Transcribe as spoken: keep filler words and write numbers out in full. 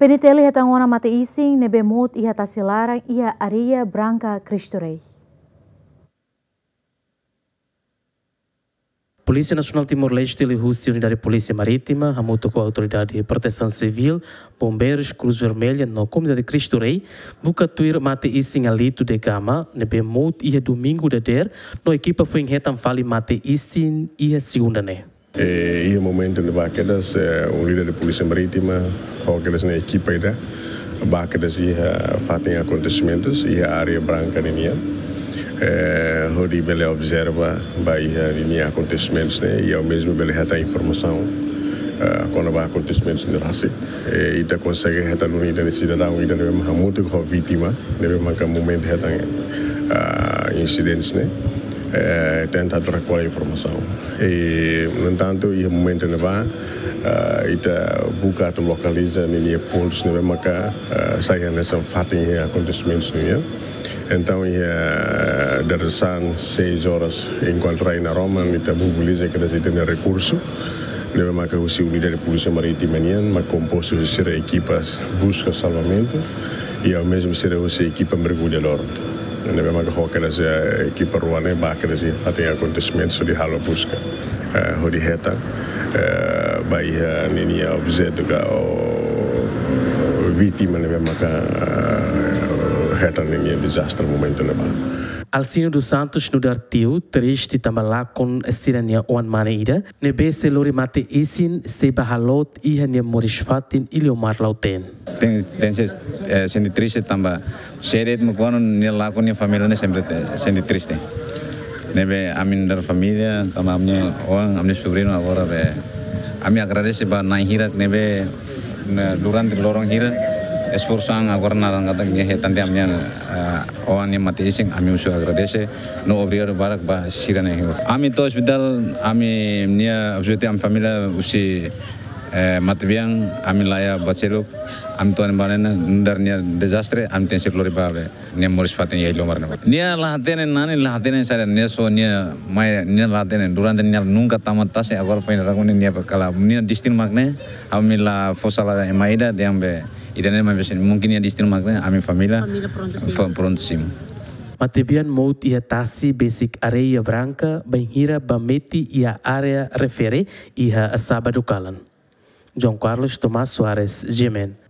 P N T L hetan ona mate-isin ne'ebé mout iha tasi laran iha Areia Branka, Cristo Rei. Polísia Nasionál Timor-Leste liuhusi Unidade Polísia Marítima hamutuk ho Autoridade Protesaun Sivíl, Bombeirus, Cruz Vermelha no Komunidade Cristo Rei buka tuir mate-isin Alito de Gama ne'ebé mout iha Domingu dadeer, no ekipa foin hetan fali mate-isin iha Segunda ne'e. Eh, iha momentu ne'ebá kedas, eh, Unidade Polísia Marítima ho kedas nia ekipa ida bá kedas iha fatin akontesimentus iha Areia Branka ninian. Eh, hodi bele observa ba iha ninia akontesimentus ne'e, i ao mesmo bele hetan informasaun, eh, kona-ba akontesimentus ne'e rasik. Eh, ita konsege hetan duni ida-ne'e sidadaun ida ne'ebé mak hamutuk ho vítima ne'ebé maka momentu hetan, ah, insidente ne'e, eh, tenta atu rekolla informasaun. I, no entantu, iha momentu ne'ebá, ah, ita buka atu lokaliza ninia pontus ne'ebé maka, ah, sai hanesan fatin iha akontesimentus ne'e. Entaun, iha dadeer-saan seis horas, enkuantu rai naroman, ita mobiliza kedas ita-nia rekursu ne'ebé maka husi Unidade Polísia Marítima nian, mak kompostu husi sira ekipas buska salvamentu, i ao mesmo sira husi ekipa mergulladór ne'ebé maka ho kedas, eh, ekipa rua ne'e bá kedas iha fatin akontesimentu hodi halo buska, eh, hodi hetan, eh, ba iha ninia objetu ka, ou vítima ne'ebé maka, eh, hetan ninia dezastre momentu ne'ebá. Alcino dos Santos nu'udar tiu triste tanba lakon sira-nia oan-mane ida ne'ebé sei lori mate-isin sei bá haloot iha nia moris-fatin Iliomar Lautém. Tenke, tenke, eh, sente triste tanba sede mo kuandu nia lakon nia família ne'e sempre te-, sente triste. Ne'ebé ami nu'udar família, tanba ami-nia oan, ami-nia sobriñu agora be, ami agradese ba na'in hirak ne'ebé, ne'e, durante loron hira esforsu an agora naran katak nia hetan tiha ami-nia, eh, oan nia mate-isin, ami husu agradese no obrigadu barak ba sira-ne'e. Ami to'o ospitál, ami-nia objetivu ami família husi, eh, matebian, ami laiha ba seluk, ami to'o ne'e ba ne'e nu'udar nia dezastre, ami tenke lori bá be nia moris-fatin iha Iliomar ne'ebá. Nia la hatene nani, la hatene saida, nia só nia mai, nia la hatene, durante nia nunka tama tasi, agora foin rakuni nia kala, nia destinu mak ne'e, ami la fó sala ema ida, dehan be, ida-ne'e mai be sin, mungkin nia destinu mak ne'e, ami família, família prontu simu. Fo-, prontu simu. Matebian mout iha tasi besik Areia Branka, bainhira bá metin iha área refere iha sábadu kalan. João Carlos Tomás Soares, G M N.